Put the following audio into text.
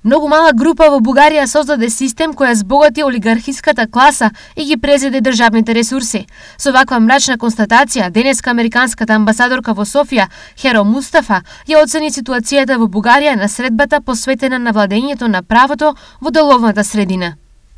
Многу мала група во Бугарија создаде систем која збогати олигархиската класа и ги презеде државните ресурси. Со ваква мрачна констатација, денеска американската амбасадорка во Софија, Херо Мустафа, ја оцени ситуацијата во Бугарија на средбата посветена на владењето на правото во деловната средина.